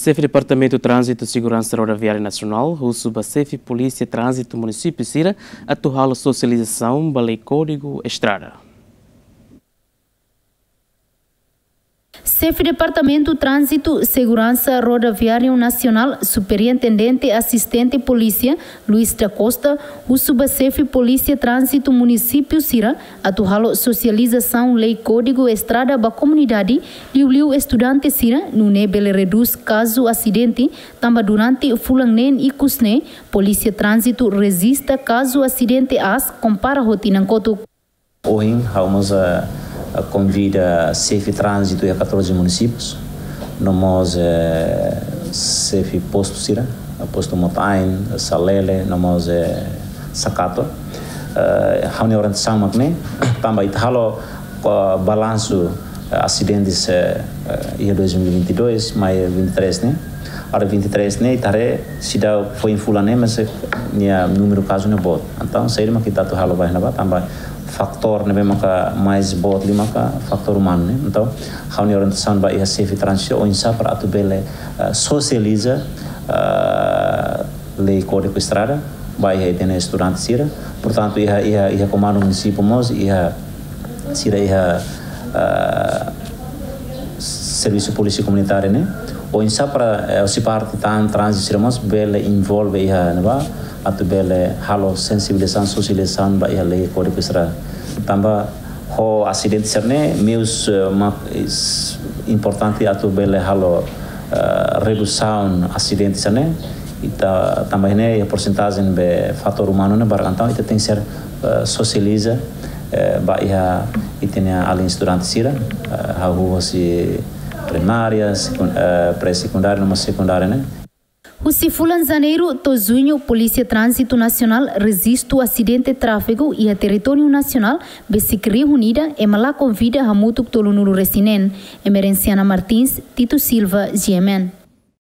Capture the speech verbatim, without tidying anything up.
Xefe Departamentu Tránzitu Seguransa Rodoviária Nasionál husu ba xefe Polísia Tránzitu munisípiu sira atu halo sosializasaun ba lei Kódigu Estrada. Xefe Departamentu Tránzitu Seguransa Rodoviária Nasionál, Superintendente Asistente Polísia, Luis da Costa, husu ba xefe Polísia Tránzitu munisípiu sira atu halo sosializasaun lei Kódigu Estrada ba komunidade, liuliu estudante sira, nune'e bele redús kazu asidente, tanba durante fulan neen ikus ne'e, Polísia Tránzitu rejista kazu asidente aas kompara ho tinan kotuk. Ohin, ha'u mós, eh, konvida xefe tránzitu iha katorze munisípius, no mós, eh, xefe postu sira, postu Mota-Ain, Salele, no mós, eh, Sakato. Eh, ha'u-nia orientasaun mak ne'e, tanba ita halo, eh, balansu, eh, asidentes, eh, eh, iha dois mil e vinte e dois, mai vinte e três ne'e. Agora vinte e três ne'e, ita haree seidauk foin fulan ne'e, mas, eh, nia númeru kazu ne'e boot. Entaun, saida mak ita atu halo ba iha ne'ebá, tanba fatór ne'ebé maka mais boot liu maka fatór umanu ne'e. Entaun, ha'u-nia orientasaun ba iha xefe tránzitu oinsá para atu bele, eh, sosializa, eh, lei Kódigu Estrada ba iha ita-nia estudante sira. Portantu, iha, iha, iha komandu munisípiu mós, iha sira iha, eh, servisu polísia komunitária ne'e. Oinsá para, eh, husi parte tan tránzitu sira mós bele envolve iha ne'ebá, atu bele halo sensibilizasaun, sosializasaun ba iha lei Kódigu Estrada. Tanba ho asidente sira-ne'e, meius, eh, mak, is, importante atu bele halo, eh, redusaun asidente sira-ne'e. Ita tanba ne'e, iha porsentajen be fatór umanu ne'e barak, entaun ita tenke ser, eh, sosializa, eh, ba iha ita-nia alin estudante sira, eh, hahú husi primária, sekun-, eh, pré-sekundária, no mós sekundária ne'e. Husi fulan Janeiru to'o Juñu, Polísia Tránzitu Nasionál rejistu asidente tráfegu iha territóriu nasionál besik rihun ida, ema la konvida hamutuk tolunulu-resin-neen. Emerenciana Martins, Tito Silva, G M N.